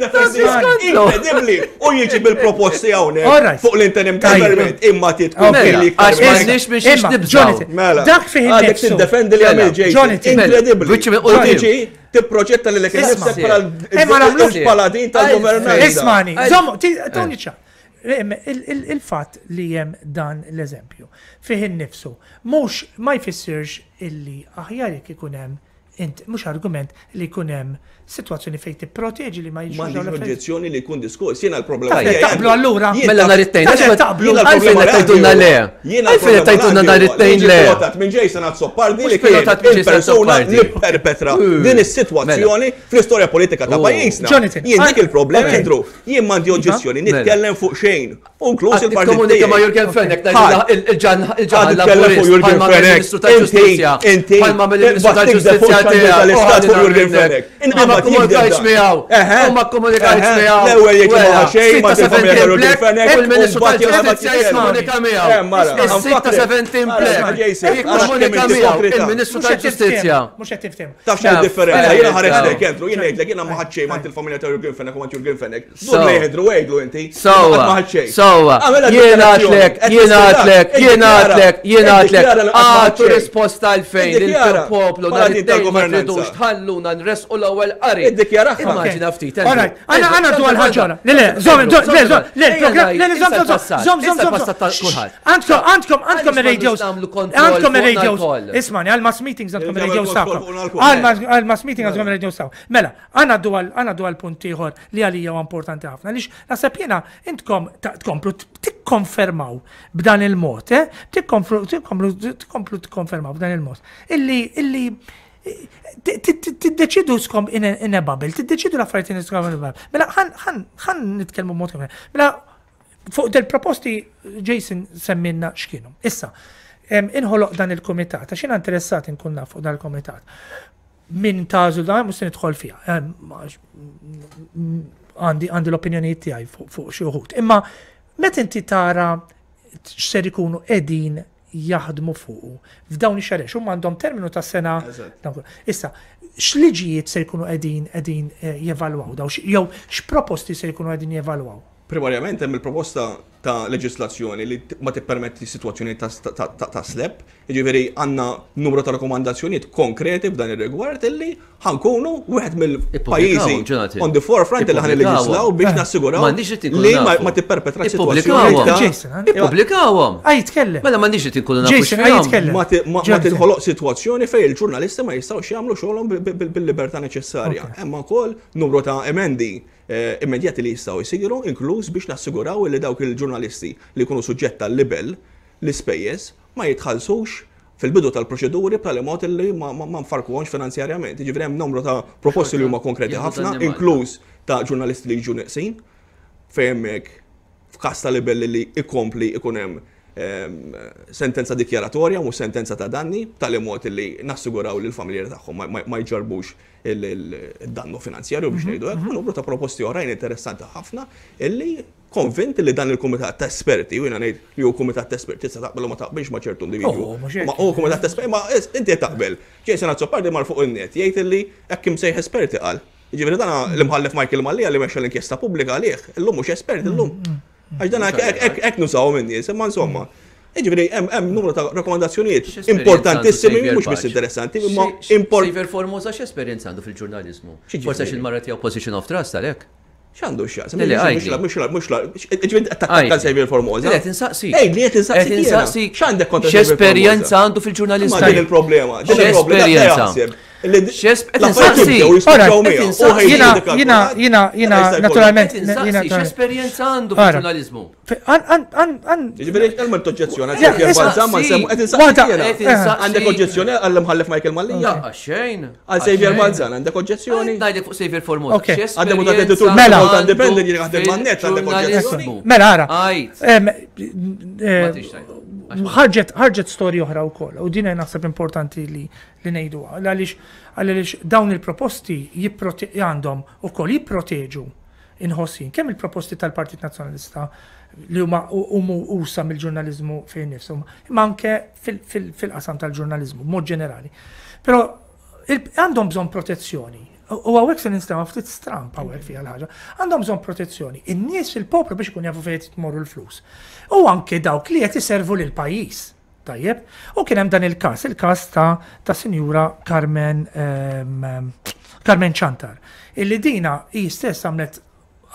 Inkredibbli. U jiġi bil-proposti hawnhekk fuq l-interim government imma titkun kelli iktar. Għax m'għandniex biex nibżgħu. Mela. Dak fih Għadek tiddefendi li għamil Jason. Inkredibbli. U tiġi tipproġetta lilek innifsek bħala l-paladin tal-governanza. Ismani, żomm, tuni ċa. Il-fatt li hemm dan l-eżempju fih innifsu mhux ma jfissirx illi aħjar jekk ikun hemm Int, mhux argument li jkun hemm sitwazzjoni fejn tipproteġi li ma jiġux dawn l-affarijiet. M'għandix oġġezzjoni li jkun diskors, jiena l-problema tiegħi. Taqblu allura. Mela nhar it-tnejn. Taqblu. Għalfejn qed tgħidulna le. Għalfejn qed tgħidulna nhar it-tnejn le. Pilotat minn Jason Azzopardi li kien il-persuna li perpetra din is-sitwazzjoni fl-istorja politika ta' pajjiżna. Jien dik il-problema, Andrew. Jien m'għandi oġġezzjoni mela. nitkellem fuq xejn. U inkluż il-partit. Komunika ma' Jurgen Fenech, il-ġan il-ġan fuq Jurgen Fenech. Ministru tal-Ġustizzja. Inti, Bħalma mill-Ministru tal-Ġustizzja tal-Istat fuq Jurgen Fenech. Ma komunikajtx miegħu. U ma komunikajtx miegħu. L-ewwel jgħid ma xejn ma tifhem Jurgen Fenech. U l-Ministru tal-Ġustizzja jikkomunika miegħu. Is-sitta 17 black. Jikkomunika miegħu il-Ministru tal-Ġustizzja. Mhux qed tifhem. Taf x'inhi differenza? Jiena ħares lejk, Andrew, jien ngħidlek jiena ma ħadd xejn ma' il-familja ta' Jurgen Fenech u ma' Jurgen Fenech. Dur lejn Andrew għidlu inti. Sowa. Sowa. Jien għatlek, jien għatlek, jien għatlek, jien għatlek. Għatu risposta għalfejn il-poplu nhar it-tnejn ma tridux tħalluna nressqu l-ewwel qari. Iddikjaraha. Immaġina ftit. All right, għana għana dwar ħaġa. Le, le, żomm, le, le, le, le, żomm, żomm, żomm, żomm. Għandkom, għandkom, għandkom ir-radios. Għandkom ir-radios. Ismani, għal-mass meetings għandkom ir-radios tagħkom. Għal-mass meeting għandkom ir-radios tagħkom. Mela, għana dwar għana dwar punt ieħor li għalija huwa importanti ħafna. Għaliex naħseb jiena intkom tkomplu tikkonfermaw b'dan il-mod, eh? Tikkomplu tkomplu tikkonfermaw b'dan il-mod. Illi illi tiddeċidu skom in a bubble, tiddeċidu l-affarijiet in a bubble. Mela ħan nitkellmu mod Mela fuq del proposti Jason semminna x'kienu. Issa, inħoloq dan il-komitat, għax jiena interessat inkun naf fuq dan il-komitat. Min tagħżlu dan mhux se nidħol fiha. Għandi għandi l-opinjonijiet tiegħi fuq xi wħud. Imma meta inti tara x'ser ikunu qegħdin jaħdmu fuqu f'dawn ix-xahar huma għandhom terminu ta' sena. Issa, x'liġijiet se jkunu qegħdin qegħdin eh, jevalwaw daw jew x'proposti se jkunu qegħdin jevalwaw? Primarjament hemm il-proposta ta' leġislazzjoni li ma tippermetti sitwazzjoni ta' slep, jiġifieri għandna numru ta' rakkomandazzjonijiet konkreti f'dan ir-rigward illi ħa nkunu wieħed mill-pajjiżi on the forefront illi ħa nilleġislaw biex nassiguraw li ma tipperpetrax sitwazzjoni. Ippubblikawhom. Ej jitkellem. Mela m'għandniex li inkunu nafu x'fihom. Ma tinħoloq sitwazzjoni fejn il-ġurnalisti ma jistgħux jagħmlu xogħolhom bil-libertà neċessarja. Hemm ukoll numru ta' emendi immedjati li jistgħu jsiru, inkluż biex nassiguraw li dawk il-ġurnalisti li jkunu suġġett għal libell, l-ispejjeż ma jitħallsux fil-bidu tal-proċeduri b'tali mod li ma nfarrkuhomx finanzjarjament. Jiġifieri hemm numru ta' proposti li huma konkreti ħafna, inkluż ta' ġurnalisti li jiġu neqsin, fejn hemmhekk f'każ ta' libell li jkompli jkun hemm. sentenza dikjaratorja mhux sentenza ta' danni, b'tali mod li nassiguraw li l-familjari tagħhom ma jġarrbux il-dannu finanzjarju biex ngħidu hekk, u numru ta' proposti oħrajn interessanti ħafna illi konvint li dan il-kumitat ta' esperti, u jiena ngħid li hu kumitat ta' esperti, tista' taqbel u ma taqbilx ma' ċertu individwu. Oh, mhux hekk. Ma hu kumitat ta' esperti, ma inti qed taqbel. Jason Azzopardi mar fuq in-net jgħid illi hekk imsejjaħ esperti qal. Jiġifieri dan l-imħallef Michael Mallia li mexxa l-inkjesta pubblika għalih, illum mhux espert illum. Għax dan hekk nużawhom in-nies, imma insomma. Jiġifieri hemm numru ta' rakkomandazzjonijiet importantissimi, mhux biss interessanti, imma importanti. Xavier Formosa x'esperjenza għandu fil-ġurnaliżmu? Forsi għax il-mara tiegħu position of trust għalhekk? X'għandu x'jaqsam? Mhux mhux ġifieri tattakka Xavier Formosa. Qed insaqsik. Ej, li qed insaqsik. X'għandek kontra X'esperjenza għandu fil-ġurnaliżmu? Din il-problema, din il-problema. Jiena, jiena, jiena, naturalment. X'esperjenza għandu fil-ġurnaliżmu? Ġifieri, għal toġġezzjoni, għal Balzan ma nsemmu, qed insaqsi. Għandek oġġezzjoni għall-imħallef Michael Mallia? Xejn. Għal Xavier Balzan, għandek oġġezzjoni? Ngħidlek fuq Xavier Formosa. Għal deputat editur Mela. Malta Independent jien jaħdem man-net għandek oġġezzjoni? Mela, ara. Ħarġet ħarġet storja oħra wkoll u din naħseb importanti li li ngħiduha għaliex għaliex dawn il-proposti għandhom ukoll jipproteġu inħoss jien kemm il-proposti tal-Partit Nazzjonalista li huma huma usa mill-ġurnaliżmu fejn nifshom, imma anke fil-qasam tal-ġurnaliżmu b'mod ġenerali. Però għandhom bżonn protezzjoni. U hawnhekk se ninstema' ftit stramb hawnhekk fiha l-ħaġa. Għandhom bżonn protezzjoni. In-nies il-poplu biex ikun jafu fejn qed tmorru l-flus. U anke dawk li qed iservu lill-pajjiż. Tajjeb. U kien hemm dan il-każ, il-każ ta' ta' Sinjura Carmen ehm, Carmen Ciantar, illi dina hi stess għamlet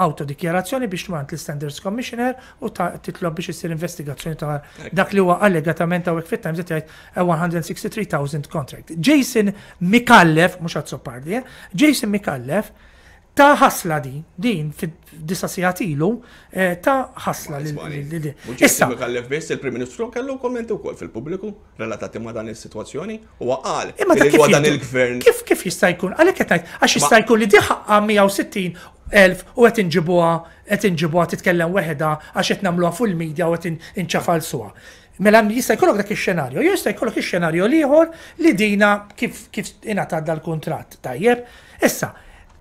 awtodikjarazzjoni biex tmur għand l-Standards Commissioner u ta' titlob biex issir investigazzjoni ta' dak li huwa allegatament hawnhekk fit-Times qed jgħid a 163,000 contract. Jason Micallef, mhux Azzopardi, eh? Jason Micallef Ta' ħasla din, din fid-disa' sigħat ilu, ta' ħasla lil din. Issa. Micallef biss, il-Prim Ministru kellu kummenti wkoll fil-pubbliku relatati ma' dan is-sitwazzjoni. Huwa qal li huwa dan il-Gvern. Kif kif jista' jkun? Għalhekk qed ngħid, għax jista' jkun li di ħaqqha 160,000 u qed inġibuha qed inġibuha titkellem weħedha għax qed nagħmluha fuq il-media u qed inċafalsuha. Mela jista' jkollok dak ix-xenarju, jew jista' jkollok ix-xenarju l-ieħor li dina kif kif ingħatat dal-kuntratt. Tajjeb? Issa,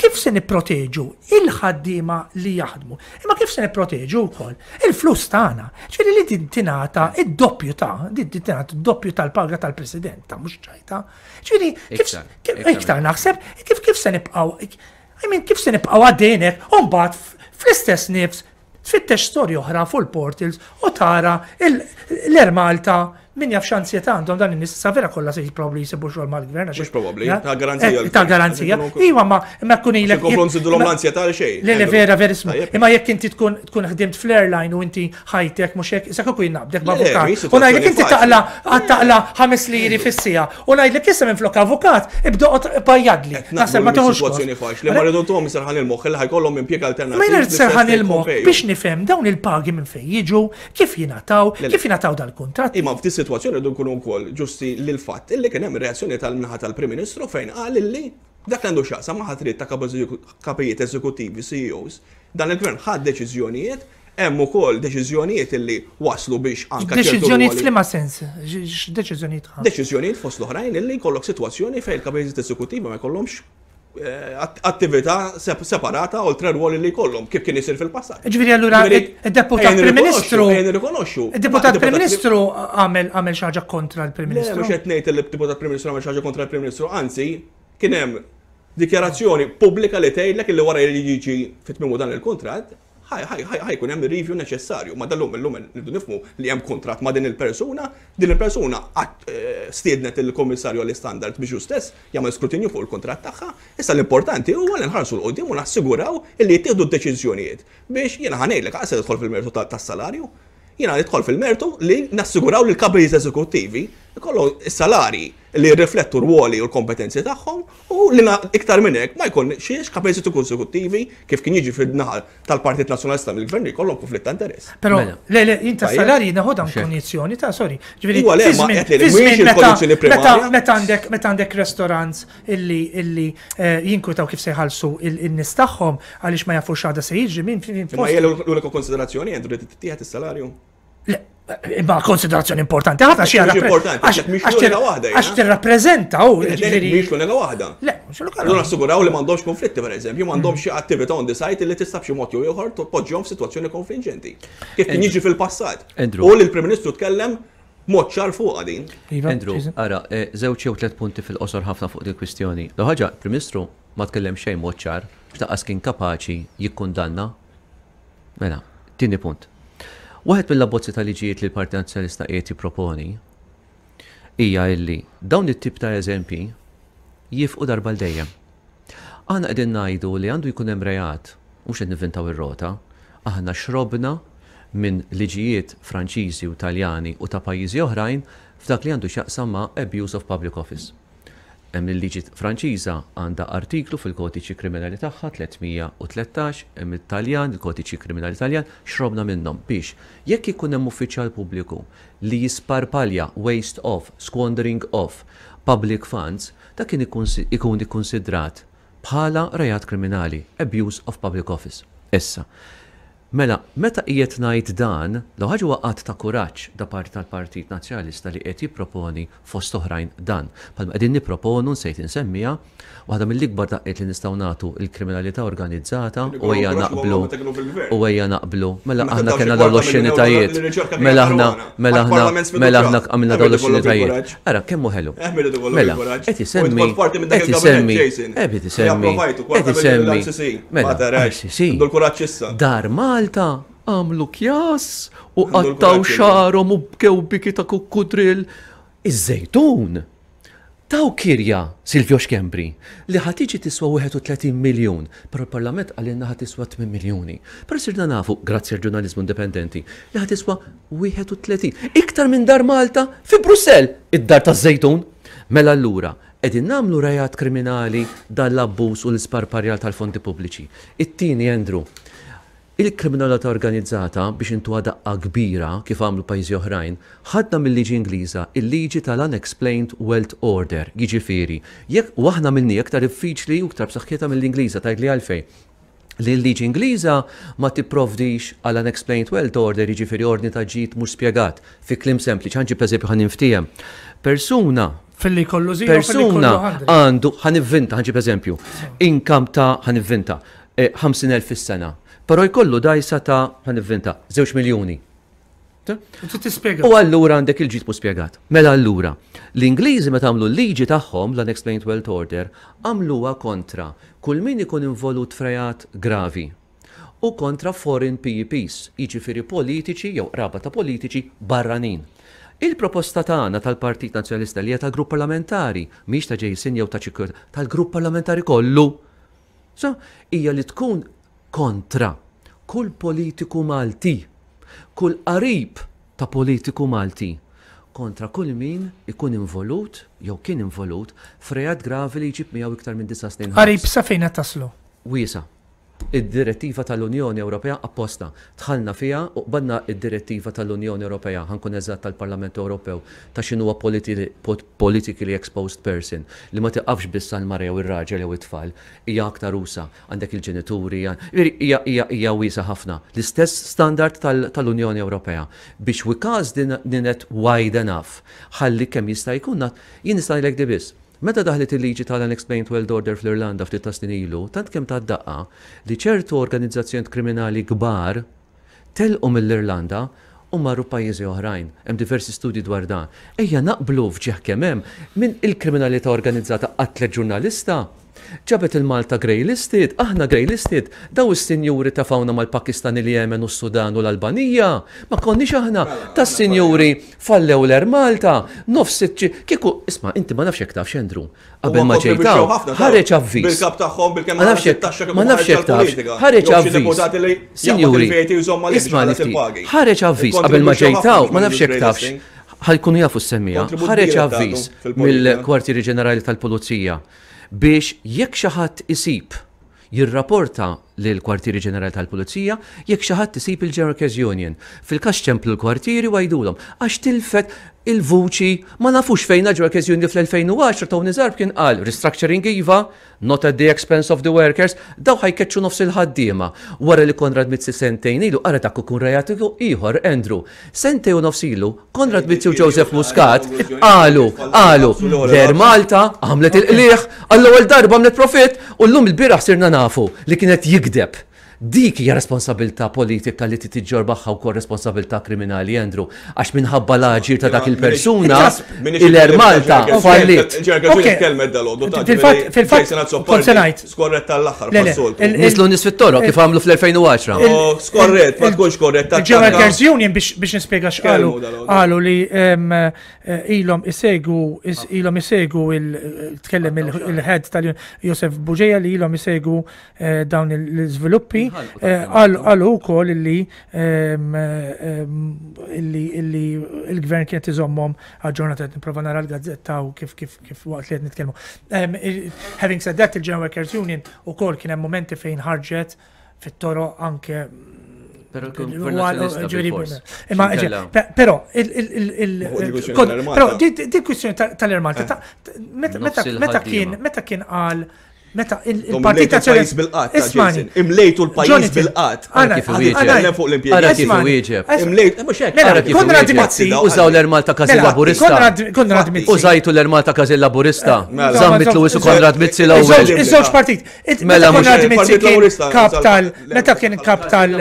kif se nipproteġu il-ħaddiema li jaħdmu? Imma kif se nipproteġu wkoll il-flus tagħna? Ġifieri li din tingħata id-doppju ta' din tingħata d-doppju tal-paga tal-President ta' mhux ċajta. Ġifieri kif iktar naħseb kif kif se nibqgħu I mean, kif se nibqgħu għaddejjin hekk u mbagħad fl-istess nifs Tfittex storja oħra fuq il-portals u tara l-Air Malta min jaf x'anzjetà għandhom dan in-nies issa vera kollha se probabbli jsibu xogħol mal-gvern. Mhux probabbli, ta' garanzija. Ta' garanzija. Iva ma imma tkun ilek. Komplu nżidulhom l-anzjetà għal xejn. Le le vera vera ismu. Imma jekk inti tkun tkun ħdimt fl-airline u inti ħajtek mhux hekk, issa kieku jien naqbdek b'avukat. U ngħidlek inti taqla taqla ħames liri fis-siegħa U ngħidlek issa minflok avukat, ibda oqgħod bajjadli. Naħseb ma tieħux. Sitwazzjoni faċli, ma rridu tuhom serħan il-moħħ li ħajkollhom impjieg alternattiv. Ma jien serħan il-moħħ biex nifhem dawn il-pagi minn fejn jiġu, kif jingħataw, kif jingħataw dal-kuntratt. Imma f'di sitwazzjoni rridu nkunu wkoll ġusti lil fatt illi kien hemm reazzjoni tal-naħa tal-Prim Ministru fejn qal illi dak li għandu x'jaqsam ma' ħatriet ta' kapijiet eżekuttivi, CEOs, dan il-gvern ħa deċiżjonijiet Hemm ukoll deċiżjonijiet illi waslu biex anke ċertu Deċiżjonijiet f'liema sens? X'deċiżjonijiet ħa? Deċiżjonijiet fost l-oħrajn illi jkollok sitwazzjoni fejn il-kapijiet eżekuttivi ma jkollhomx eh, attività separata oltre r-rwol li jkollhom kif kien isir fil-passat. Ġifieri allura id-deputat Prim Ministru. Nirrikonoxxu. Id-deputat Prim Ministru għamel għamel xi ħaġa kontra l-Prim Ministru. Mhux qed ngħid li d-deputat Prim Ministru għamel xi ħaġa kontra l-Prim Ministru, anzi kien hemm dikjarazzjoni pubblika li tgħidlek li wara li jiġi fit-tmiemu dan il-kuntratt ħa jkun hemm ir-review neċessarju. Ma dal-lum illum nridu nifhmu li hemm kuntratt ma' din il-persuna, din il-persuna eh, stiednet il-Kummissarju għall-Istandards biex hu stess jagħmel skrutinju fuq il-kuntratt tagħha. Issa l-importanti huwa li nħarsu 'l quddiem u nassiguraw li jittieħdu d-deċiżjonijiet biex jiena ħa ngħidlek aqas se tidħol fil-mertu tas-salarju. Jiena nidħol fil-mertu li nassiguraw li l-kapijiet eżekuttivi jkollhom is-salarji li jirriflettu r-rwoli u l-kompetenzi tagħhom u li iktar minn hekk ma jkunx kapijiet eżekuttivi kif kien jiġi fin-naħa tal-Partit Nazzjonalista mill-Gvern li jkollhom kunflitt ta' interess. Però mela. le le jien tas-salarji neħodha kondizzjoni ta' sorry. Ġifieri Iwa le ma qed li mhijiex il-kondizzjoni primarja. Meta għandek meta għandek restaurants illi illi eh, jinkwitaw kif se jħallsu in-nies tagħhom għaliex ma jafux għada se jiġri min. Imma hija l-unika konsiderazzjoni Andrew li tittieħed is-salarju? Le. Imma konsiderazzjoni importanti ħafna xi għax tirrappreżenta u mhix l-unika waħda. Le, mhux l-unika. Allura assiguraw li m'għandhomx konflitti pereżempju, m'għandhomx xi attività on the site li tista' b'xi mod jew ieħor tpoġġihom f'sitwazzjoni konfliġġenti. Kif kien jiġri fil-passat. U li l-Prim Ministru tkellem mod ċar fuqha din. Iva, Andrew, ara, eh, żewġ jew tliet punti fil-qosor ħafna fuq din kwistjoni. L-ħaġa, Prim Ministru ma tkellem xejn mod ċar, x'taqqas kien kapaċi jikkundanna Mela, tieni punt. Waħed mill-abbozzi ta' liġijiet li l-Partit Nazzjonalista qiegħed jipproponi hija illi dawn it-tip ta' eżempji jifqu darba l dejjem. Aħna qegħdin ngħidu li għandu jkun hemm reat, mhux qed nivvintaw ir-rota, aħna xrobna minn liġijiet Franċiżi u Taljani u ta' pajjiżi oħrajn f'dak li għandu x'jaqsam ma' abuse of public office. Hemm il-liġi Franċiża għandha artiklu fil-Kodiċi Kriminali tagħha 313, hemm it-Taljan, il-Kodiċi Kriminali Taljan, xrobna minnhom biex jekk ikun hemm uffiċjal pubbliku li jisparpalja, waste of, squandering of, public funds, dak kien ikun ikkunsidrat bħala reat kriminali, abuse of public office. Issa, Mela, meta qiegħed ngħid dan, l-ewwel ħaġa huwa att ta' kuraġġ da parti tal-Partit Nazzjonalista li qiegħed jipproponi fost oħrajn dan. Bħalma qegħdin nipproponu, nsejt insemmiha, waħda mill-ikbar daqqiet li nistgħu nagħtu l-kriminalità organizzata u ejja naqblu u ejja naqblu. Mela aħna kellna dawn l-oxxenitajiet. Mela aħna mela aħna mela aħna għamilna dawn l-oxxenitajiet. Ara kemm hu ħelu. Mela, qed isemmi qed isemmi qed isemmi qed isemmi Mela, ICC. Għandu l-kuraġġ issa. Dar Malta għamlu kjas u qattaw xarhom u bkew biki ta' kukkudrill. Iż-Żejtun taw kirja Silvio Schembri li ħa tiġi tiswa 31 miljun, però l-Parlament qalilna ħa tiswa 8 miljuni. Però sirna nafu, grazzi għall-ġurnaliżmu indipendenti, li ħa tiswa 31. Iktar minn Dar Malta fi Brussell, id-dar taż-Żejtun. Mela allura, Qegħdin nagħmlu reat kriminali dan l-abbuż u l-isparparjar tal-fondi pubbliċi. It-tieni, Andrew, il-kriminalità organizzata, biex intuha daqqa kbira, kif għamlu pajjiżi oħrajn, ħadna mil-liġi Ingliża il-liġi tal-unexplained wealth order, jiġifieri, jekk, u aħna għamilniha iktar diffiċli u iktar b'saħħitha mill-Ingliża, tgħidli għalfejn? Li l-liġi Ingliża ma tipprovdix għal unexplained wealth order, jiġifieri ordni ta' ġid mhux spjegat. Fi kliem sempliċi, ħa nġib eżempju ħa ninftiehem. Persuna Filli jkollu zero, persuna għandu, ħa nivvinta, ħa nġib eżempju, income ta' ħa nivvinta, 50,000 eh, fis-sena, però jkollu dajsa ta' ħa nivvinta, 2 miljuni. U allura għandek il-ġid mhux spjegat. Mela allura, l-Ingliżi meta għamlu l-liġi tagħhom, l-Unexplained Wealth Order, għamluha kontra kull min ikun involut f'reat gravi u kontra foreign PEPs, jiġifieri politiċi jew qraba ta' politiċi barranin. Il-proposta tagħna tal-Partit Nazzjonalista li hija tal-Grupp Parlamentari, mhix ta' Jason jew ta' Ċikku, tal-Grupp Parlamentari kollu, so, hija li tkun kontra kull politiku Malti, kull qarib ta' politiku Malti, kontra kull min ikun involut jew kien involut f'reat gravi li jġib miegħu iktar minn disa' snin ħabs. Qarib sa fejn qed taslu? Wiesgħa. Id-direttiva tal-Unjoni Ewropea apposta dħalna fiha u qbadna d-direttiva tal-Unjoni Ewropea, ħa nkun eżatt tal-Parlament Ewropew, ta' x'inhuwa politically exposed person, li ma tiqafx biss għall-mara jew ir-raġel jew it-tfal, hija aktar usa'. Għandek il-ġenituri, jiġifieri hija hija hija wiesgħa ħafna. L-istess standard tal-Unjoni Ewropea biex we cast the net wide enough ħalli kemm jista' jkun jien nista' ngħidlek di biss. Meta daħlet il-liġi tal-Unexplained Wealth Order fl-Irlanda ftit ta' snin ilu, tant kemm tat daqqa li ċertu organizzazzjonijiet kriminali kbar telqu mill-Irlanda u marru pajjiżi oħrajn. Hemm diversi studji dwar dan. Ejja naqblu f'ġieħ kemm hemm min il-kriminalità organizzata qatlet ġurnalista, ġabet il-Malta grey listed, aħna grey listed, daw is-sinjuri tefgħuna mal-Pakistan, il-Jemen u s-Sudan u l-Albanija, ma konniex aħna, tas-sinjuri fallew l-Air Malta, nofs iċ-, kieku, isma' inti ma nafx jekk tafx Andrew, Qabel ma ġejt hawn, ħareġ avviż. Bil-kap tagħhom bil-kemm ma nafx jekk ma nafx jekk tafx. Ħareġ avviż. Sinjuri, isma' ħareġ avviż qabel ma ġejt hawn, ma nafx jekk tafx. Ħajkunu jafu s-semmija. Ħareġ avviż mill-Kwartieri Ġenerali tal-Pulizija biex jekk xi ħadd isib jirrapporta lill-Kwartieri Ġenerali tal-Pulizija jekk xi ħadd isib il-General Workers Union. Fil-każ ċemplu l-kwartieri u għidulhom għax tilfet il-vuċi ma nafux fejn General Workers Union fl-2010 Tony Zarb kien qal restructuring iva, not at the expense of the workers, daw ħa jkeċċu nofs il-ħaddiema. Wara li Konrad Mizzi sentejn ilu, ara dak ikun reat ieħor, Andrew, sentejn u nofs ilu, Konrad Mizzi u Joseph Muscat qalu, qalu, l-Air Malta għamlet il-qligħ, għall-ewwel darba għamlet profitt u llum il-bieraħ sirna nafu li kienet jigdeb. Dik hija responsabilità politika li trid iġġorr magħha wkoll responsabilità kriminali, Andrew, għax minħabba l-aġir ta' dak il-persuna, il-Air Malta falliet. Fil-fatt, kont se ngħid. Skorrett tal-aħħar bħas-soltu. Niżlu n-nies fit-toroq kif għamlu fl-2010. Oh, skorrett, ma tkunx korrett. Il-General Workers Union biex nispjega x'qalu, qalu li ilhom isegwu ilhom isegwu tkellem il-head tal-Josef Bugeja li ilhom isegwu Eh, dawn l-iżviluppi. Eh, qalu wkoll illi ehm, ehm, illi il-gvern kienet iżommhom aġġornat qed nipprova nara l-gazzetta u kif kif kif waqt li qed nitkellmu. Ehm, having said that, il-General Workers Union ukoll kien hemm momenti fejn ħarġet fit-toroq anke Pero Però, però di kwistjoni tal-Air Malta, meta kien meta kien qal Meta il-Partit Nazzjonalista bil-qatt. Ismani. Imlejtu l-pajjiż bil-qatt. Ara kif wieġeb. fuq l-impjegati. Ara kif wieġeb. Imlejt, mhux hekk. Mela, Konrad Mizzi. Użaw l-Air Malta każin mela, Laburista. Konrad Mizzi. Użajtu l-Air Malta każin Laburista. Mela. Zammit Lewis u Konrad Mizzi l-ewwel. Iż-żewġ partit. Mela Konrad Mizzi kien kap tal meta kien kap tal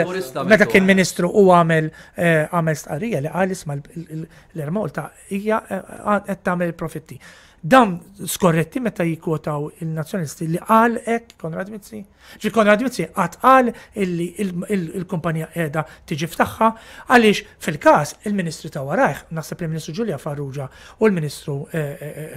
meta kien ministru u għamel eh, għamel stqarrija li qal isma' l-Air Malta hija eh, qed tagħmel profitti. Dawn skorretti meta jikkwotaw il-Nazzjonalisti li qal hekk Konrad Mizzi? Ġi Konrad Mizzi qatt qal illi il-kumpanija qiegħda tiġi f'tagħha għaliex fil-każ il-Ministri ta' warajh, naħseb li l-Ministru Julia Farrugia u l-Ministru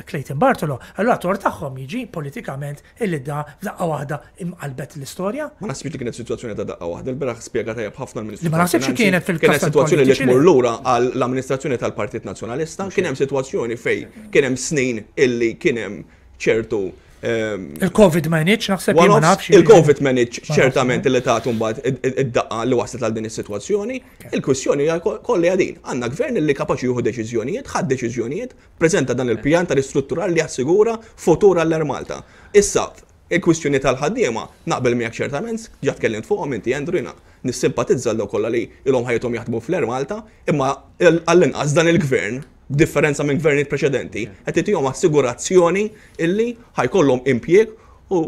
Clayton Bartolo, allura tort tagħhom jiġi politikament illi da f'daqqa waħda imqalbet l-istorja. Ma naħsibx li kienet sitwazzjoni ta' daqqa waħda, il-bieraħ spjega tajjeb ħafna l-Ministru. Li ma naħsibx li kienet fil-każ Kienet sitwazzjoni li tmur lura għall-amministrazzjoni tal-Partit Nazzjonalista, kien hemm sitwazzjoni fejn kien hemm snin illi kien hemm ċertu ehm, Il-Covid ma jenitx, naħseb ma nafx. Il-Covid ma jenitx ċertament li tagħtu mbagħad id-daqqa li waslet għal din is-sitwazzjoni. Il-kwistjoni hija kollha din. Għandna gvern li kapaċi jieħu deċiżjonijiet, ħadd deċiżjonijiet, preżenta dan il-pjan ta' ristrutturar li jassigura futur għall-Air Malta. Issa, il-kwistjoni tal-ħaddiema, naqbel miegħek ċertament, ġa tkellimt fuqhom inti Andrew, jiena nissimpatizza għal dawk kollha li ilhom ħajjithom jaħdmu fl-Air Malta, imma għall-inqas dan il-gvern, b'differenza minn gvernijiet preċedenti, qed itihom assigurazzjoni illi ħa jkollhom impjieg u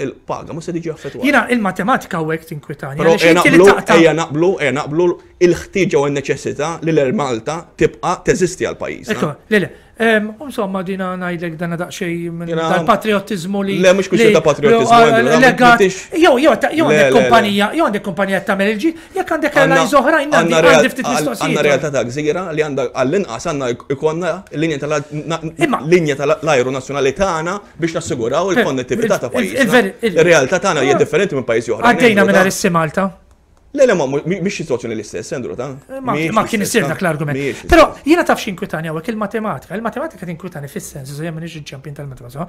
l-paga mhux se tiġi affettwata. Jiena il-matematika hawnhekk tinkwitani. Però ejja naqblu, ejja naqblu, ejja naqblu il-ħtieġa u n-neċessità li l-Air Malta tibqa' teżisti għal pajjiżna. Ekku, le, le. Insomma, dina ngħidlek dana daqsxejn minn tal-patriottiżmu li. Le, mhux kwistjoni ta' patriottiżmu. Legat. Jew, jew, jew għandek kumpanija, jew għandek kumpanija tagħmel il-ġid, jekk għandek airlines oħrajn għandi ftit mistoqsijiet. Għandna realtà ta' gżira li għandha għall-inqas għandna jkollna linja tal-ajru nazzjonali tagħna biex nassiguraw il-konnettività ta' pajjiżna. Ir-realtà tagħna hija differenti minn pajjiżi oħra. Għaddejna minn is Malta. Le, le, ma mhix situazzjoni l-istess, Andrew, ta' eh, Ma kien isir dak l-argument. Però jiena taf x'inkwitani hawnhekk il-matematika. Il-matematika tinkwitani fis-sens, jien m'iniex il-ċampjon tal-matematika.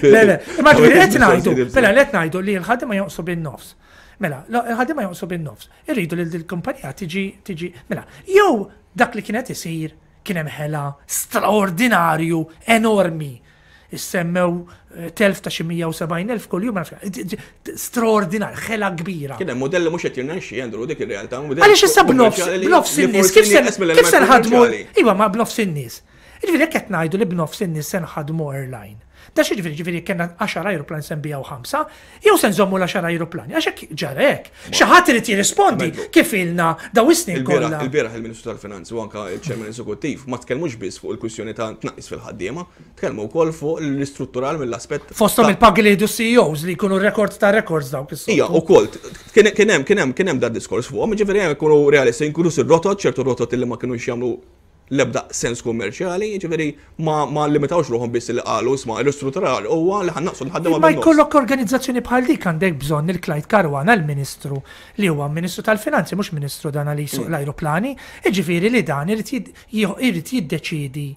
Le, le, imma ġifieri qed ngħidu, mela qed ngħidu li l-ħaddiema jonqsu bin-nofs. Mela, il-ħaddiema jonqsu bin-nofs. Irridu li l-kumpanija tiġi tiġi, mela, jew dak li kienet isir kien hemm ħela straordinarju enormi Issemmew eh, telf ta' xi 170,000 kuljum, straordinarju, ħela kbira. Kien hemm modelli mhux qed jirnexxi, Andrew, dik ir-realtà. Għaliex issa b'nofs b'nofs in-nies, kif se nħadmu? Iva, ma b'nofs in-nies. Jiġifieri jekk qed ngħidu li b'nofs in-nies se nħadmu airline. Da xi ġifieri ġifieri kellna 10 ajruplan se nbijaw ħamsa, jew se nżommu l-10 ajruplani, għax hekk ġara hekk. Xi ħadd irid jirrispondi kif ilna daw is-snin kollha. Il-bieraħ il-Ministru tal-Finanzi u anke l-Chairman Eżekuttiv ma tkellmux biss fuq il-kwistjoni ta' tnaqqis fil-ħaddiema, Tkellmu wkoll fuq l-istruttural mill-aspett. Fosthom il-pagi li jieħdu CEOs li jkunu rekord ta' records dawk is Ija, ukoll kien hemm kien hemm kien hemm dat diskors fuqhom, jiġifieri hemm ikunu realisti, inkluż ir-rotot, ċertu rotot li ma kinux jagħmlu l-ebda sens kummerċjali, jiġifieri ma ma limitawx ruħhom biss li qalu isma' l-istruttural huwa li ħa naqsu l-ħaddiema. Ma jkollok organizzazzjoni bħal dik għandek bżonn il-Clyde Caruana l-Ministru li huwa Ministru tal-Finanzi mhux Ministru dan li jsuq mm. l-ajruplani, jiġifieri li dan irid jiddeċiedi.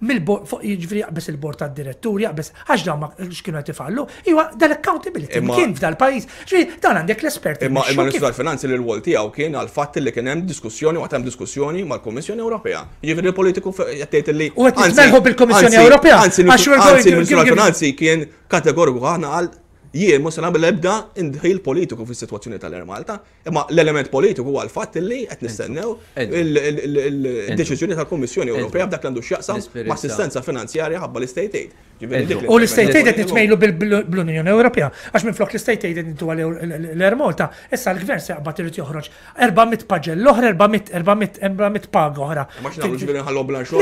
Mill-bord, jiġifieri jaqbeż il-bord tad-diretturi, jaqbeż għax dawn ma x'kienu qed ifallu, iwa dal-accountability kien f'dal-pajjiż. Ġifieri dan għandek l-esperti. Imma imma l-Ministru tal-Finanzi li l-wol tiegħu kien għal fatt li kien hemm diskussjoni waqt hemm diskussjoni mal-Kummissjoni Ewropea. Jiġifieri l-politiku qed tgħid li. U qed nitmerħu bil-Kummissjoni Ewropea. Anzi, l-Ministru tal-Finanzi kien kategoriku ħafna qal jien mhux se nagħmel ebda indħil politiku fis-sitwazzjoni tal-Air Malta. Imma l-element politiku huwa l-fatt li qed nistennew il-deċiżjoni tal-Kummissjoni Ewropea b'dak li għandu x'jaqsam ma' assistenza finanzjarja ħabba l-istate aid. U l-istate aid qed nitmejlu bl-Unjoni Ewropea, għax minflok l-istate aid qed nintuha l-Air Malta, issa l-gvern se jaqbad irid joħroġ 400 paġell oħra, 400, 400, 400 paga oħra. Ma x'nagħmlu ġifieri nħallhom bla xogħol?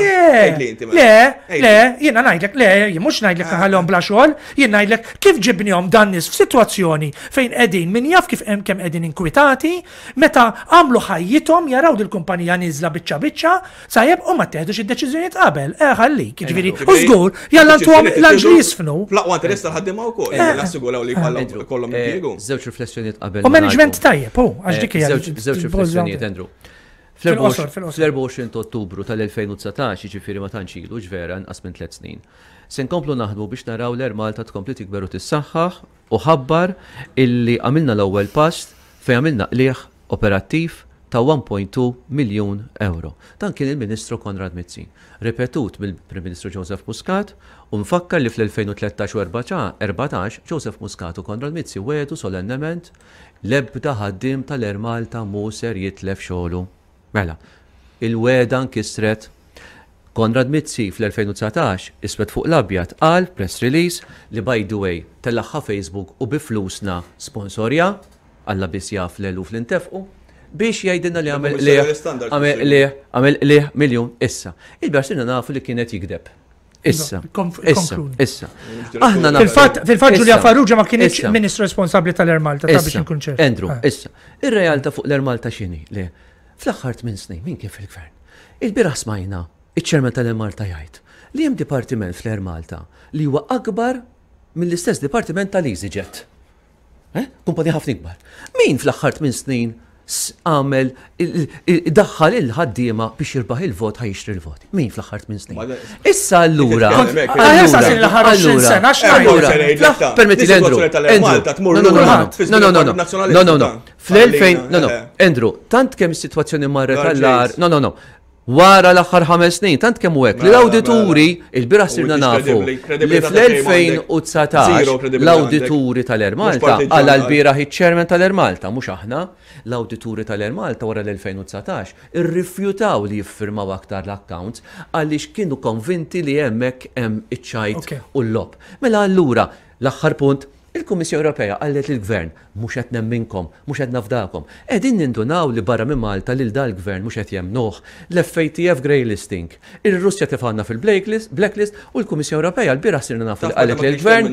Le, le, jiena ngħidlek, le, jien mhux ngħidlek nħallhom bla xogħol, Jien ngħidlek kif ġibnihom dan nies f'sitwazzjoni fejn qegħdin min jaf kif hemm kemm qegħdin inkwitati, meta għamlu ħajjithom jaraw dil-kumpanija nieżla biċċa biċċa, sajjeb u ma tteħdux id-deċiżjonijiet qabel. Eh ħallik, jiġifieri, u żgur, jalla ntuhom l-anġli jisfnu. Fl-aqwa interess tal-ħaddiema wkoll, nassiguraw li jkollhom impjiegu. Żewġ riflessjonijiet qabel. U management tajjeb, hu, għax dik hija. Żewġ riflessjonijiet, Andrew. Fl-24 ta' Ottubru tal-2019, jiġifieri ma tantx ilu, ġvera, inqas minn tliet snin, Se nkomplu naħdmu biex naraw l-Air Malta tkompli tikber u tissaħħaħ u ħabbar illi għamilna l-ewwel pass fejn għamilna qligħ operattiv ta' 1.2 miljun ewro. Dan kien il-Ministru Konrad Mizzi, ripetut mill-Prim Ministru Joseph Muscat u nfakkar li fl-2013 u 14 Joseph Muscat u Konrad Mizzi wegħdu solennement l-ebda ħaddiem tal-Air Malta mhu ser jitlef xogħlu. Mela, il-wegħda nkisret. Konrad Mizzi fl-2019, iswed fuq l-abjad, qal f'press release li by the way tellagħha Facebook u bi flusna sponsorja, Alla biss jaf l-eluf li ntefqu, biex jgħidilna li għamel qligħ, għamel qligħ, għamel qligħ miljun. Issa, il-bieraħ sirna nafu li kien qed jigdeb. Issa, issa, issa. Aħna Fil-fatt, fil-fatt Julia Farrugia ma kienx ministru responsabbli tal-Air Malta, ta' biex inkun ċert. Andrew, issa, ir-realtà fuq l-Air Malta x'inhi? Le, fl-aħħar tmien snin min kien fil-gvern? Il-bieraħ smajna iċ-chairman tal-Air Malta jgħid li hemm dipartiment fl-Air Malta li huwa akbar mill-istess dipartiment tal-EasyJet. Eh? Kumpanija ħafna ikbar. Min fl-aħħar tmien snin għamel daħħal il-ħaddiema biex jirbaħ il-vot ħa jixtri l-voti. Min fl-aħħar tmien snin? Issa allura. Allura, permetti Andrew. No, no, no, no, no, no, no. Fl-2000, no, no, Andrew, tant kemm is-sitwazzjoni marret għall-ar, no, no, no. Wara l-aħħar ħames snin, tant kemm hu hekk li l-awdituri, il-bieraħ sirna nafu li fl-2019 l-awdituri tal-Air Malta, qala l-bieraħ iċ-chairman tal-Air Malta, mhux aħna, l-awdituri tal-Air Malta wara l-2019 irrifjutaw li jiffirmaw aktar l-accounts għaliex kienu konvinti li hemmhekk hemm iċ-ċajt u l-logħob. Mela allura, l-aħħar punt, Il-Kummissjoni Ewropea qalet lill-Gvern, mhux qed nemminkom, mhux qed nafdakom. Qegħdin nindunaw li barra minn Malta lil dal-Gvern mhux qed jemmnuh. L-FATF grey listing. Ir-Russja tefgħalna fil-blacklist u l-Kummissjoni Ewropea lbieraħ sirna nafu li qalet lill-Gvern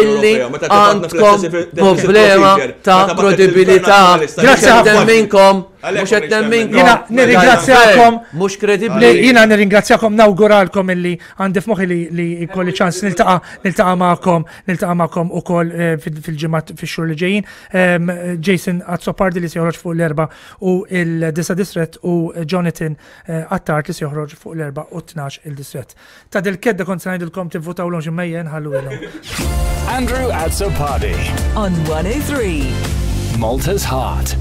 illi għandkom problema ta' kredibilità. Mhux qed nemminkom, mhux qed nemminkom. Jiena nirringrazzjakom. Mhux kredibbli. Jiena nirringrazzjakom nawguralkom illi għandi f'moħħi li jkolli ċans niltaqa' niltaqa' magħkom Niltaqa' magħkom ukoll eh, fil-ġimgħat fix-xhur li ġejjin. Jason Azzopardi li se joħroġ fuq l-erba' u il-disa distret u Jonathan eh, Attard li se joħroġ fuq l-erba' u 12 il-distret. Ta' dil-kedda kont se ngħidilkom tivvutawlhom xi mejjen ħallu ilhom. Andrew Azzopardi On 103. Malta's Heart.